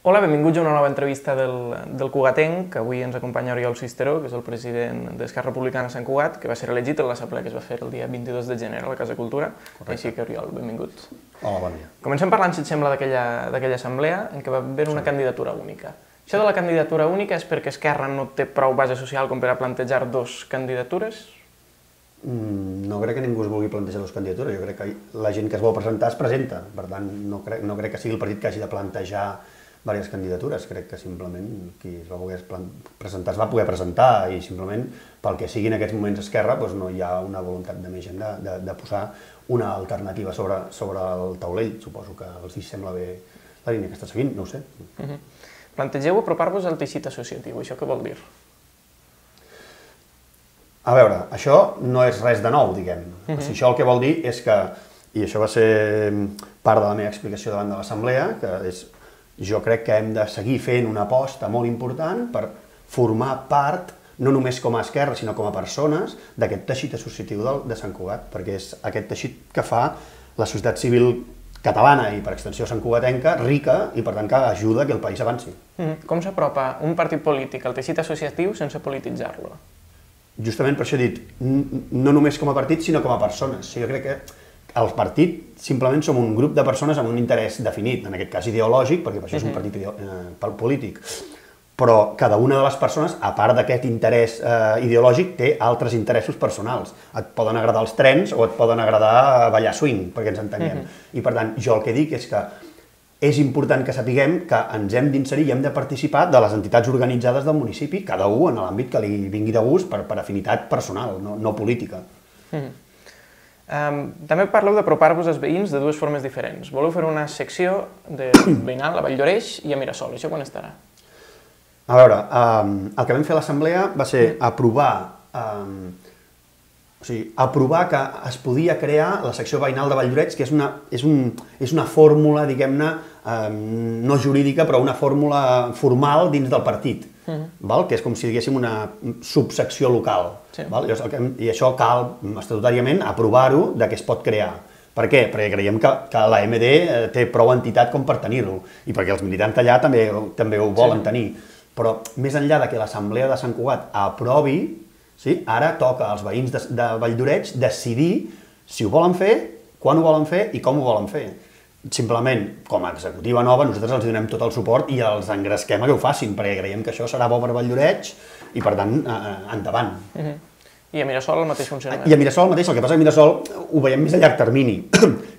Hola, benvinguts a una nova entrevista del Cugatenc, que avui ens acompanya Oriol Sisteró, que és el president d'Esquerra Republicana Sant Cugat, que va ser elegit en l'assemblea que es va fer el dia 22 de gener a la Casa Cultura. Correcte. Així que, Oriol, benvingut. Hola, bon dia. Comencem parlant, si et sembla, d'aquella assemblea en què va haver una candidatura única. Això de la candidatura única és perquè Esquerra no té prou base social com per a plantejar dos candidatures? No crec que ningú es vulgui plantejar dues candidatures. Jo crec que la gent que es vol presentar es presenta. Per tant, no crec que sigui el partit que hagi de plantejar diverses candidatures. Crec que simplement qui es va voler presentar es va poder presentar i simplement pel que sigui en aquests moments Esquerra no hi ha una voluntat de més gent de posar una alternativa sobre el taulell. Suposo que els sembla bé la línia que està seguint, no ho sé. Plantegeu apropar-vos al teixit associatiu. Això què vol dir? A veure, això no és res de nou, diguem. Això el que vol dir és que, i això va ser part de la meva explicació davant de l'Assemblea, que és, jo crec que hem de seguir fent una aposta molt important per formar part, no només com a Esquerra, sinó com a persones, d'aquest teixit associatiu de Sant Cugat, perquè és aquest teixit que fa la societat civil catalana i, per extensió, santcugatenca, rica i, per tant, que ajuda que el país avanci. Com s'apropa un partit polític al teixit associatiu sense polititzar-lo? Justament per això he dit, no només com a partit, sinó com a persones. Jo crec que el partit simplement som un grup de persones amb un interès definit, en aquest cas ideològic, perquè per això és un partit polític. Però cada una de les persones, a part d'aquest interès ideològic, té altres interessos personals. Et poden agradar els trens o et poden agradar ballar swing, perquè ens entenguem. I per tant, jo el que dic és que és important que sapiguem que ens hem d'inserir i hem de participar de les entitats organitzades del municipi, cada un en l'àmbit que li vingui de gust per afinitat personal, no política. També parleu d'apropar-vos als veïns de dues formes diferents. Voleu fer una secció veïnal a Vall d'Oreix i a Mirasol. Això quan estarà? A veure, el que vam fer a l'Assemblea va ser aprovar que es podia crear la secció veïnal de Vall d'Oreix, que és una fórmula, diguem-ne, no jurídica, però una fórmula formal dins del partit, que és com si diguéssim una subsecció local. I això cal estatutàriament aprovar-ho que es pot crear. Per què? Perquè creiem que l'AMD té prou entitat com per tenir-lo i perquè els militants d'allà també ho volen tenir. Però més enllà que l'Assemblea de Sant Cugat aprovi, ara toca als veïns de Vall d'Oreix decidir si ho volen fer, quan ho volen fer i com ho volen fer. Simplement, com a executiva nova, nosaltres els donem tot el suport i els engresquem a que ho facin, perquè creiem que això serà bo per Vall d'Oreix i, per tant, endavant. I a Mirasol el mateix funcionament? I a Mirasol el mateix, el que passa que a Mirasol ho veiem més a llarg termini.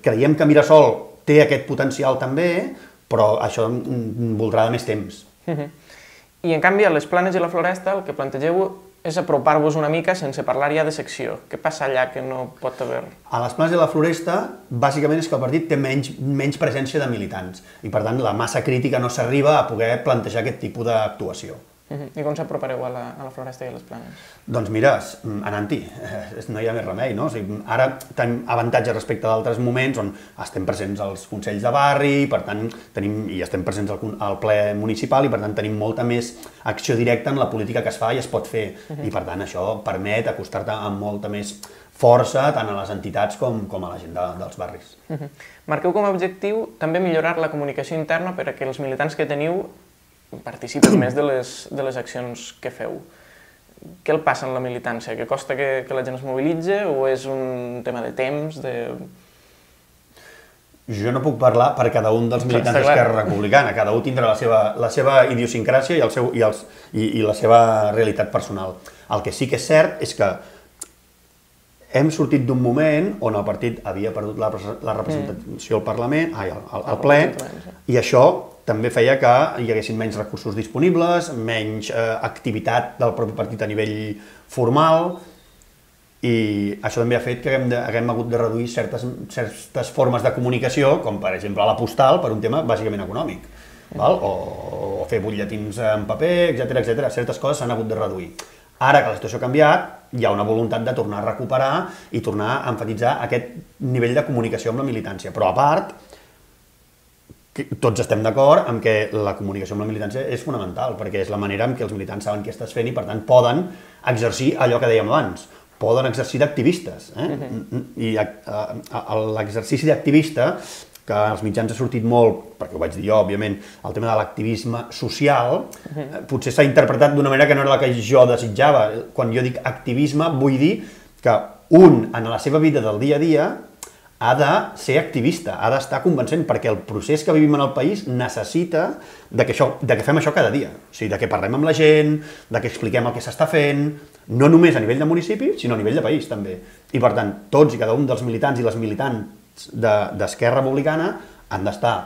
Creiem que Mirasol té aquest potencial també, però això voldrà de més temps. I, en canvi, a les Planes i la Floresta el que plantegeu és apropar-vos una mica sense parlar ja de secció. Què passa allà que no pot haver? A les Planes i la Floresta, bàsicament és que el partit té menys presència de militants i, per tant, la massa crítica no s'arriba a poder plantejar aquest tipus d'actuació. I com s'apropareu a la Floresta i a les Planes? Doncs mira, anant-hi, no hi ha més remei, no? Ara tenim avantatges respecte d'altres moments on estem presents als consells de barri, per tant, i estem presents al ple municipal i, per tant, tenim molta més acció directa en la política que es fa i es pot fer. I, per tant, això permet acostar-te amb molta més força tant a les entitats com a la gent dels barris. Marqueu com a objectiu també millorar la comunicació interna perquè els militants que teniu participen més de les accions que feu. Què el passa en la militància? Que costa que la gent es mobilitza o és un tema de temps? Jo no puc parlar per cada un dels militants d'Esquerra Republicana. Cada un tindrà la seva idiosincràsia i la seva realitat personal. El que sí que és cert és que hem sortit d'un moment on el partit havia perdut la representació al Parlament, al ple, i això també feia que hi haguessin menys recursos disponibles, menys activitat del propi partit a nivell formal, i això també ha fet que haguem hagut de reduir certes formes de comunicació, com per exemple la postal, per un tema bàsicament econòmic, o fer butlletins en paper, etc. Certes coses s'han hagut de reduir. Ara que la situació ha canviat, hi ha una voluntat de tornar a recuperar i tornar a emfatitzar aquest nivell de comunicació amb la militància. Però a part, tots estem d'acord en que la comunicació amb la militància és fonamental, perquè és la manera en què els militants saben què estàs fent i, per tant, poden exercir allò que dèiem abans, poden exercir d'activistes. I l'exercici d'activista que als mitjans ha sortit molt, perquè ho vaig dir jo, òbviament, el tema de l'activisme social, potser s'ha interpretat d'una manera que no era la que jo desitjava. Quan jo dic activisme, vull dir que un, en la seva vida del dia a dia, ha de ser activista, ha d'estar convencent, perquè el procés que vivim en el país necessita de que fem això cada dia. O sigui, de que parlem amb la gent, de que expliquem el que s'està fent, no només a nivell de municipi, sinó a nivell de país, també. I, per tant, tots i cada un dels militants i les militants d'Esquerra Republicana han d'estar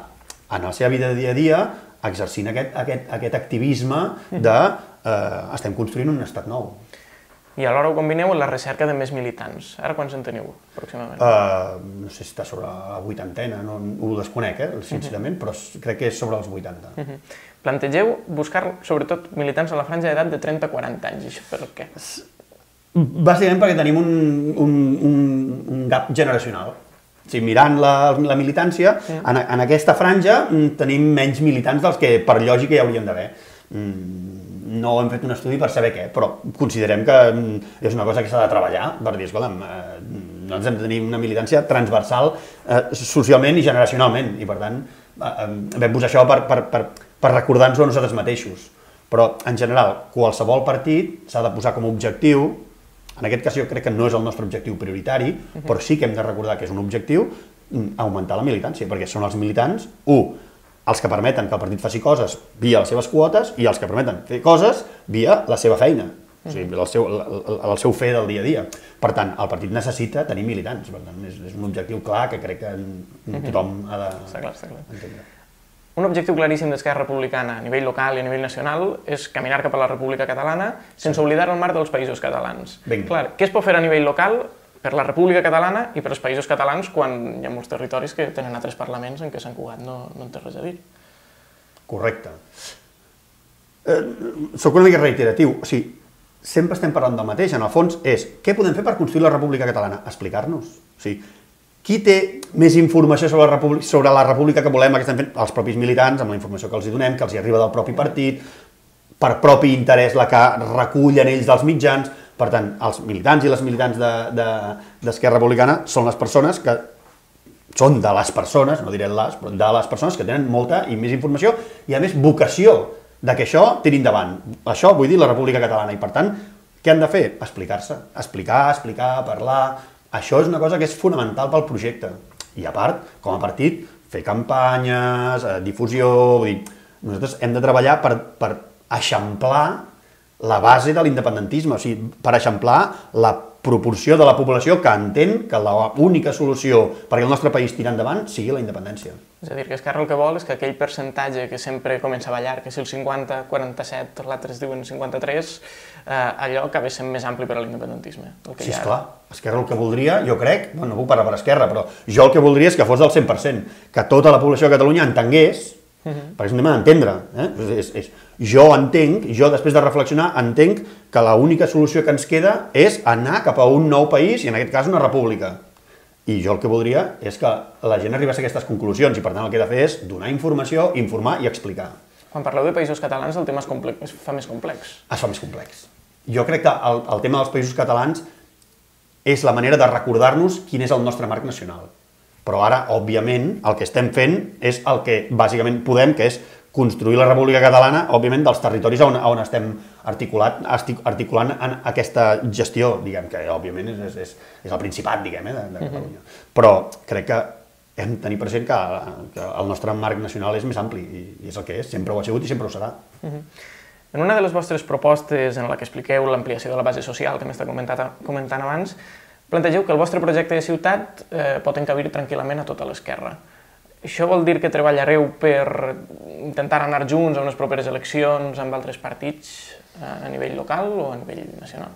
en la seva vida de dia a dia exercint aquest activisme de estem construint un estat nou. I alhora ho combineu amb la recerca de més militants. Ara quants en teniu, aproximadament? No sé si està sobre la 80ena, no ho desconec, sincerament, però crec que és sobre els 80. Plantegeu buscar, sobretot, militants a la franja d'edat de 30 a 40 anys. Això per què? Bàsicament perquè tenim un gap generacional. O sigui, mirant la militància, en aquesta franja tenim menys militants dels que per lògica hi haurien d'haver. No hem fet un estudi per saber què, però considerem que és una cosa que s'ha de treballar per dir, escolta'm, nosaltres hem de tenir una militància transversal socialment i generacionalment, i per tant vam posar això per recordar-nos a nosaltres mateixos. Però, en general, qualsevol partit s'ha de posar com a objectiu, en aquest cas jo crec que no és el nostre objectiu prioritari, però sí que hem de recordar que és un objectiu augmentar la militància, perquè són els militants, els que permeten que el partit faci coses via les seves quotes i els que permeten fer coses via la seva feina, o sigui, el seu fer del dia a dia. Per tant, el partit necessita tenir militants, per tant, és un objectiu clar que crec que tothom ha d'entendre. Un objectiu claríssim d'Esquerra Republicana a nivell local i a nivell nacional és caminar cap a la República Catalana sense oblidar el marc dels països catalans. Clar, què es pot fer a nivell local per la República Catalana i per als països catalans quan hi ha molts territoris que tenen altres parlaments en què Sant Cugat no en té res a dir? Correcte. Soc una mica reiteratiu. O sigui, sempre estem parlant del mateix. En el fons és què podem fer per construir la República Catalana? Explicar-nos. O sigui, qui té més informació sobre la República que volem, que estem fent? Els propis militants, amb la informació que els donem, que els arriba del propi partit, per propi interès la que recullen ells dels mitjans. Per tant, els militants i les militants d'Esquerra Republicana són les persones que són de les persones, no diré les, però de les persones que tenen molta i més informació i, a més, vocació de que això tiri endavant. Això vull dir la República Catalana i, per tant, què han de fer? Explicar-se. Explicar, parlar. Això és una cosa que és fonamental pel projecte. I, a part, com a partit, fer campanyes, difusió... Vull dir, nosaltres hem de treballar per eixamplar la base de l'independentisme, o sigui, per eixamplar la proporció de la població que entén que l'única solució perquè el nostre país tiri endavant sigui la independència. És a dir, que Esquerra el que vol és que aquell percentatge que sempre comença a ballar, que si el 50, 47, l'altre diuen 53, allò acaba sent més ampli per a l'independentisme. Sí, esclar. Esquerra el que voldria, jo crec, no puc parlar per Esquerra, però jo el que voldria és que fos del 100%, que tota la població de Catalunya entengués, perquè és un tema d'entendre, jo entenc, jo després de reflexionar, entenc que l'única solució que ens queda és anar cap a un nou país, i en aquest cas una república. I jo el que voldria és que la gent arribés a aquestes conclusions, i per tant el que he de fer és donar informació, informar i explicar. Quan parleu de països catalans, el tema es fa més complex. Es fa més complex. Jo crec que el tema dels països catalans és la manera de recordar-nos quin és el nostre marc nacional. Però ara, òbviament, el que estem fent és el que bàsicament podem, que és construir la República Catalana, òbviament, dels territoris on estem articulant en aquesta gestió, diguem, que òbviament és el Principat, diguem, de Catalunya. Però crec que hem de tenir present que el nostre marc nacional és més ampli, i és el que és, sempre ho ha sigut i sempre ho serà. En una de les vostres propostes en la que expliqueu l'ampliació de la base social, que m'està comentant abans, plantegeu que el vostre projecte de ciutat pot encabir tranquil·lament a tota l'esquerra. Això vol dir que treballareu per intentar anar junts a unes properes eleccions amb altres partits a nivell local o a nivell nacional?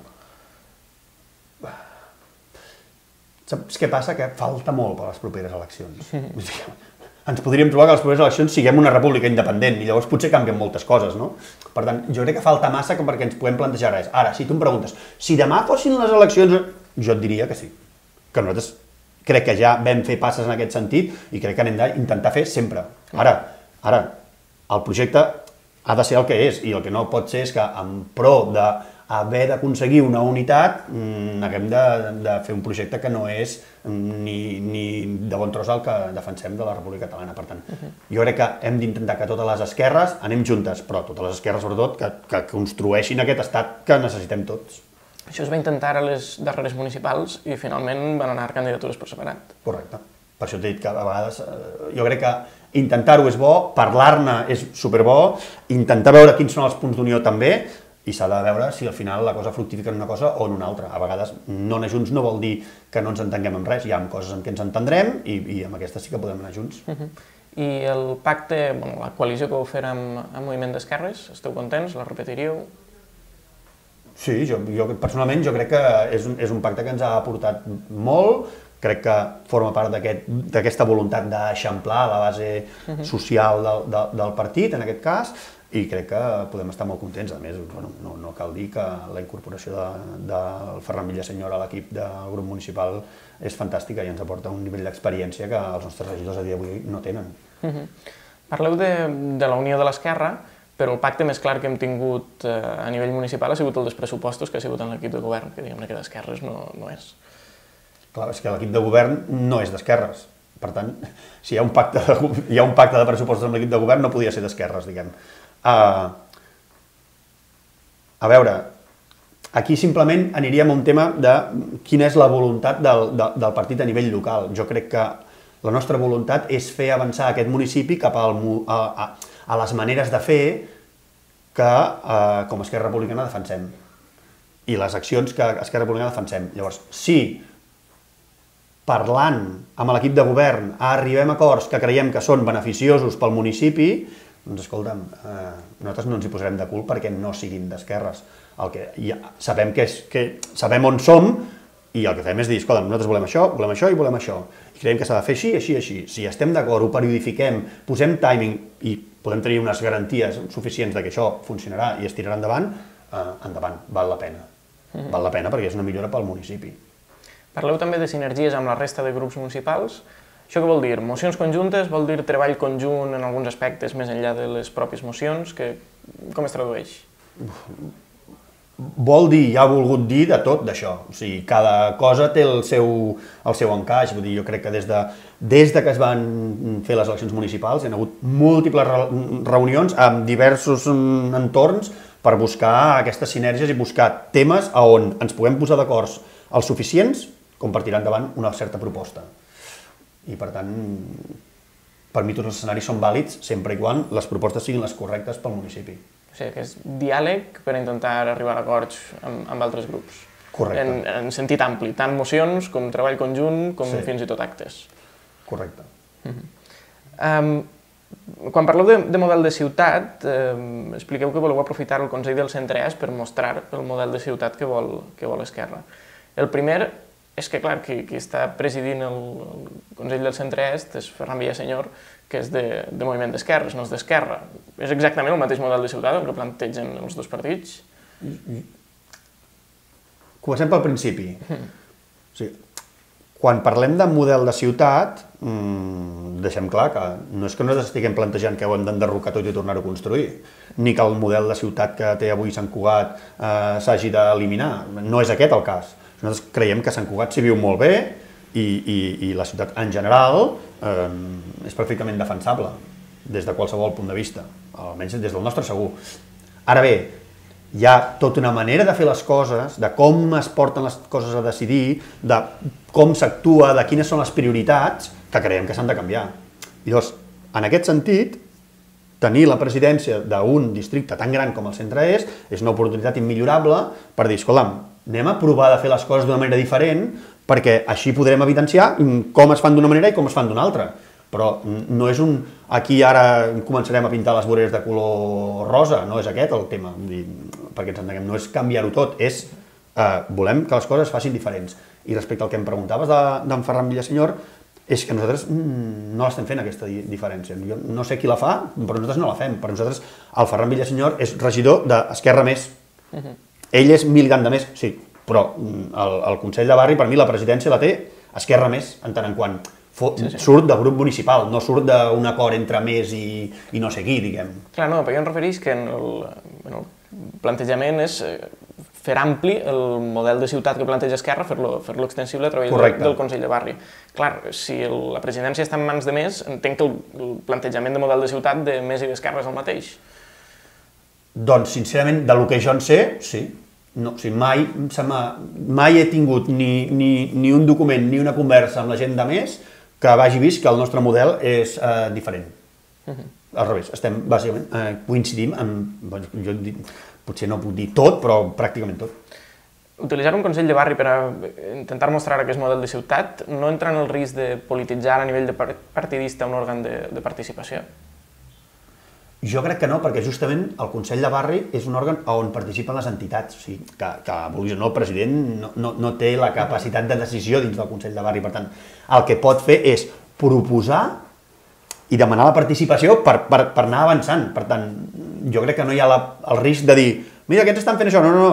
Saps què passa? Que falta molt per les properes eleccions. Ens podríem trobar que a les properes eleccions siguem una república independent i llavors potser canvien moltes coses, no? Per tant, jo crec que falta massa perquè ens puguem plantejar res. Ara, si tu em preguntes, si demà fossin les eleccions, jo et diria que sí. Que nosaltres crec que ja vam fer passes en aquest sentit i crec que n'hem d'intentar fer sempre. Ara, el projecte ha de ser el que és i el que no pot ser és que en pro haver d'aconseguir una unitat, haguem de fer un projecte que no és ni de bon tros el que defensem de la República Catalana. Per tant, jo crec que hem d'intentar que totes les esquerres anem juntes, però totes les esquerres, sobretot, que construeixin aquest estat que necessitem tots. Això es va intentar a les darreres municipals i finalment van anar candidatures per separat. Correcte. Per això t'he dit que a vegades jo crec que intentar-ho és bo, parlar-ne és superbo, intentar veure quins són els punts d'unió també, i s'ha de veure si al final la cosa fructifica en una cosa o en una altra. A vegades no anar junts no vol dir que no ens entenguem en res, hi ha coses en què ens entendrem i amb aquestes sí que podem anar junts. I el pacte, la coalició que vau fer amb Moviment d'Esquerres, esteu contents? La repetiríeu? Sí, jo personalment jo crec que és un pacte que ens ha aportat molt, crec que forma part d'aquesta voluntat d'eixamplar la base social del partit, en aquest cas, i crec que podem estar molt contents. A més, no cal dir que la incorporació del Ferran Villasenyor a l'equip del grup municipal és fantàstica i ens aporta un nivell d'experiència que els nostres regidors a dia d'avui no tenen. Parleu de la unió de l'esquerra, però el pacte més clar que hem tingut a nivell municipal ha sigut el dels pressupostos que ha sigut en l'equip de govern, que diguem-ne que d'esquerres no és. Clar, és que l'equip de govern no és d'esquerres. Per tant, si hi ha un pacte de pressupostos amb l'equip de govern, no podia ser d'esquerres, diguem. A veure, aquí simplement aniríem a un tema de quina és la voluntat del partit a nivell local. Jo crec que la nostra voluntat és fer avançar aquest municipi cap a les maneres de fer que com a Esquerra Republicana defensem i les accions que Esquerra Republicana defensem. Llavors, si parlant amb l'equip de govern arribem a acords que creiem que són beneficiosos pel municipi, doncs escolta'm, nosaltres no ens hi posarem de cul perquè no siguin d'esquerres. Sabem on som i el que fem és dir, escolta'm, nosaltres volem això i volem això. I creiem que s'ha de fer així, així, així. Si estem d'acord, ho periodifiquem, posem timing i podem tenir unes garanties suficients que això funcionarà i es tirarà endavant, endavant, val la pena. Val la pena perquè és una millora pel municipi. Parleu també de sinergies amb la resta de grups municipals. Això què vol dir? Mocions conjuntes? Vol dir treball conjunt en alguns aspectes més enllà de les pròpies mocions? Com es tradueix? Vol dir, ja ha volgut dir de tot d'això. O sigui, cada cosa té el seu encaix. Vull dir, jo crec que des que es van fer les eleccions municipals hi ha hagut múltiples reunions amb diversos entorns per buscar aquestes sinergies i buscar temes on ens puguem posar d'acord els suficients com per tirar endavant una certa proposta. I per tant, per mi tots els escenaris són vàlids sempre i quan les propostes siguin les correctes pel municipi. O sigui, que és diàleg per intentar arribar a acords amb altres grups. Correcte. En sentit ampli, tant mocions com treball conjunt com fins i tot actes. Correcte. Quan parleu de model de ciutat, expliqueu que voleu aprofitar el Consell del Centre-Est per mostrar el model de ciutat que vol Esquerra. El primer és que, clar, qui està presidint el Consell del Centre-Est és Ferran Villasenyor, que és de Moviment d'Esquerres, no és d'Esquerra. És exactament el mateix model de ciutat el que plantegen els dos partits? Comencem pel principi. Quan parlem de model de ciutat, deixem clar que no és que nosaltres estiguem plantejant que ho hem d'enderrocar tot i tornar-ho a construir, ni que el model de ciutat que té avui Sant Cugat s'hagi d'eliminar. No és aquest el cas. Nosaltres creiem que Sant Cugat s'hi viu molt bé i la ciutat en general és perfectament defensable des de qualsevol punt de vista, almenys des del nostre segur. Ara bé, hi ha tota una manera de fer les coses, de com es porten les coses a decidir, de com s'actua, de quines són les prioritats, que creiem que s'han de canviar. I llavors, en aquest sentit, tenir la presidència d'un districte tan gran com el Centre-Est és una oportunitat immillorable per dir, escolta'm, anem a provar de fer les coses d'una manera diferent perquè així podrem evidenciar com es fan d'una manera i com es fan d'una altra. Però no és aquí ara començarem a pintar les voreres de color rosa, no és aquest el tema, perquè ens entenguem, no és canviar-ho tot, és volem que les coses es facin diferents. I respecte al que em preguntaves d'en Ferran Villasenyor, és que nosaltres no l'estem fent aquesta diferència. Jo no sé qui la fa, però nosaltres no la fem. Per nosaltres el Ferran Villasenyor és regidor d'Esquerra Més. Ell és Milgant de Més, sí, però el Consell de Barri, per mi, la presidència la té Esquerra Més, en tant en quant surt del grup municipal, no surt d'un acord entre Més i no sé qui, diguem. Clar, no, però jo em referís que en el plantejament és fer ampli el model de ciutat que planteja Esquerra, fer-lo extensible a través del Consell de Barri. Clar, si la presidència està en mans de més, entenc que el plantejament de model de ciutat de Més i d'Esquerra és el mateix. Doncs, sincerament, del que jo en sé, sí. No, o sigui, mai he tingut ni un document ni una conversa amb la gent de Més que vagi vist que el nostre model és diferent. Al revés, bàsicament coincidim amb... Potser no puc dir tot, però pràcticament tot. Utilitzar un Consell de Barri per a intentar mostrar aquest model de ciutat no entra en el risc de polititzar a nivell de partidista un òrgan de participació? Jo crec que no, perquè justament el Consell de Barri és un òrgan on participen les entitats. O sigui, que vulguis o no, el president no té la capacitat de decisió dins del Consell de Barri. Per tant, el que pot fer és proposar i demanar la participació per anar avançant. Per tant, jo crec que no hi ha el risc de dir mira, aquests estan fent això, no,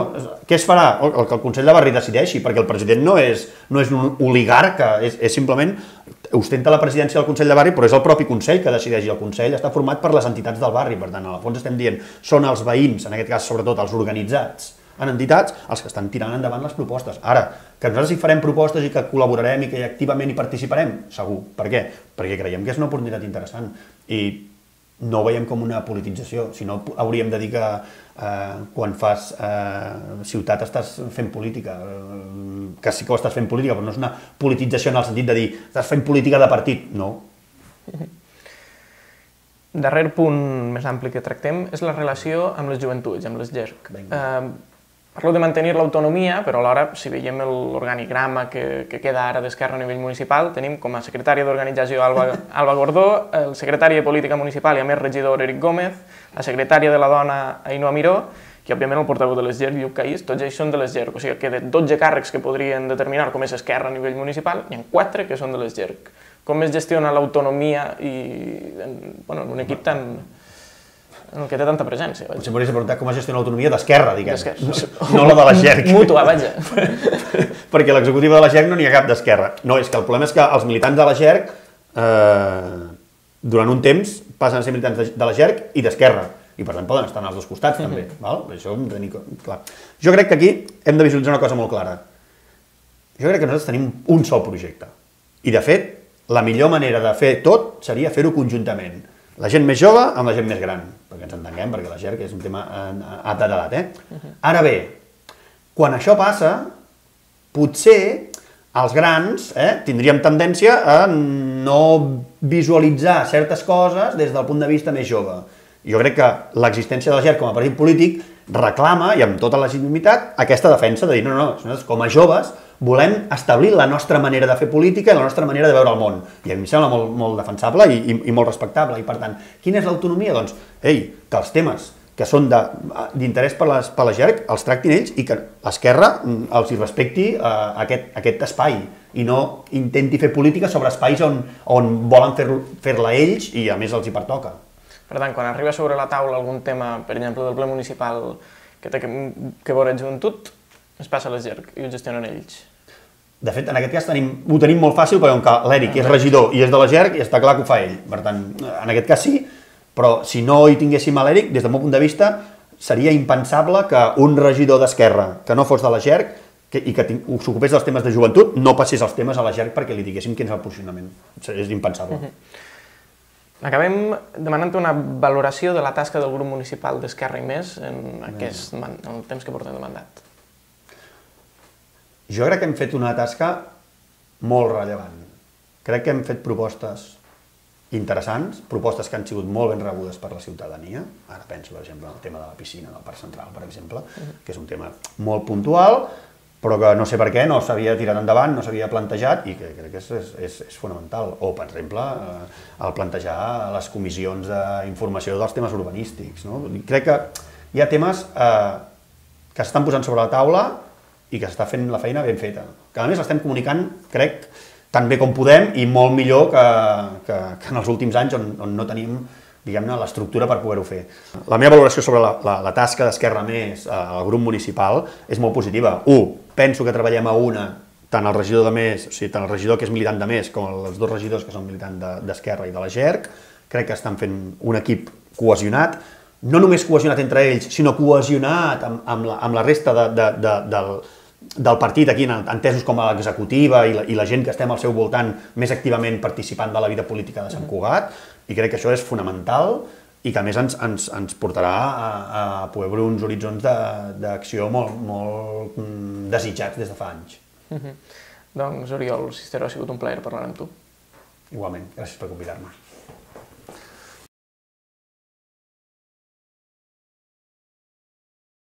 què es farà? El que el Consell de Barri decideixi, perquè el president no és un oligarca, és simplement ostenta la presidència del Consell de Barri, però és el propi Consell que decideix, i el Consell està format per les entitats del barri, per tant, al fons estem dient, són els veïns, en aquest cas sobretot els organitzats en entitats, els que estan tirant endavant les propostes. Ara, que nosaltres hi farem propostes i que col·laborarem i que activament hi participarem, segur. Per què? Perquè creiem que és una oportunitat interessant i no ho veiem com una politització, si no hauríem de dir que quan fas ciutat estàs fent política, que sí que ho estàs fent política, però no és una politització en el sentit de dir estàs fent política de partit, no. Darrer punt més ampli que tractem és la relació amb les joventuts, amb les GERC. Parlo de mantenir l'autonomia, però alhora, si veiem l'organigrama que queda ara d'Esquerra a nivell municipal, tenim com a secretària d'organització Alba Gordó, el secretari de Política Municipal i a més regidor Eric Gómez, la secretària de la Dona Ainhoa Miró, i òbviament el portaveu de les GERC, Lluc Caís, tots ells són de les GERC, o sigui que de 12 càrrecs que podrien determinar com és Esquerra a nivell municipal, hi ha 4 que són de les GERC. Com es gestiona l'autonomia en un equip tan... en el que té tanta presència. Potser m'hauries de preguntar com es gestiona l'autonomia d'Esquerra, diguem. No la de la GERC. Mútua, vaja. Perquè l'executiva de la GERC no n'hi ha cap d'Esquerra. No, és que el problema és que els militants de la GERC durant un temps passen a ser militants de la GERC i d'Esquerra. I per tant poden estar en els dos costats també. Això ho hem de tenir clar. Jo crec que aquí hem de visualitzar una cosa molt clara. Jo crec que nosaltres tenim un sol projecte. I de fet, la millor manera de fer tot seria fer-ho conjuntament. La gent més jove amb la gent més gran, perquè ens entenguem, perquè la GERC és un tema a edat. Ara bé, quan això passa, potser els grans tindríem tendència a no visualitzar certes coses des del punt de vista més jove. Jo crec que l'existència de la GERC com a partit polític reclama, i amb tota legitimitat, aquesta defensa de dir no, nosaltres com a joves volem establir la nostra manera de fer política i la nostra manera de veure el món. I a mi em sembla molt defensable i molt respectable. I per tant, quina és l'autonomia? Doncs, que els temes que són d'interès per la GERC els tractin ells i que l'Esquerra els hi respecti aquest espai i no intenti fer política sobre espais on volen fer-la ells i a més els hi pertoca. Per tant, quan arriba sobre la taula algun tema, per exemple, del ple municipal que té que veure amb joventut, es passa a les GERC i ho gestionen ells. De fet, en aquest cas ho tenim molt fàcil perquè com que l'Eric és regidor i és de la GERC i està clar que ho fa ell. Per tant, en aquest cas sí, però si no hi tinguéssim a l'Eric, des del meu punt de vista, seria impensable que un regidor d'Esquerra que no fos de la GERC i que s'ocupés dels temes de joventut no passés els temes a la GERC perquè li diguéssim quin és el posicionament. És impensable. Acabem demanant una valoració de la tasca del grup municipal d'Esquerra i Més en el temps que portem de mandat. Jo crec que hem fet una tasca molt rellevant. Crec que hem fet propostes interessants, propostes que han sigut molt ben rebudes per la ciutadania. Ara penso, per exemple, en el tema de la piscina del Parc Central, per exemple, que és un tema molt puntual, però que no sé per què no s'havia tirat endavant, no s'havia plantejat i que crec que és fonamental. O, per exemple, el plantejar les comissions d'informació dels temes urbanístics. Crec que hi ha temes que s'estan posant sobre la taula i que s'està fent la feina ben feta. Que a més l'estem comunicant, crec, tan bé com podem i molt millor que en els últims anys on no tenim, diguem-ne, l'estructura per poder-ho fer. La meva valoració sobre la tasca d'Esquerra Més al grup municipal és molt positiva. Penso que treballem a una, tant el regidor de Més, o sigui, tant el regidor que és militant de Més com els dos regidors que són militants d'Esquerra i de la GERC. Crec que estan fent un equip cohesionat. no només cohesionat entre ells, sinó cohesionat amb la resta del partit aquí, entesos com a l'executiva i la gent que estem al seu voltant més activament participant de la vida política de Sant Cugat, i crec que això és fonamental i que a més ens portarà a poder obrir uns horitzons d'acció molt desitjats des de fa anys. Doncs, Oriol Cisteró, ha sigut un plaer parlar amb tu. Igualment, gràcies per convidar-me.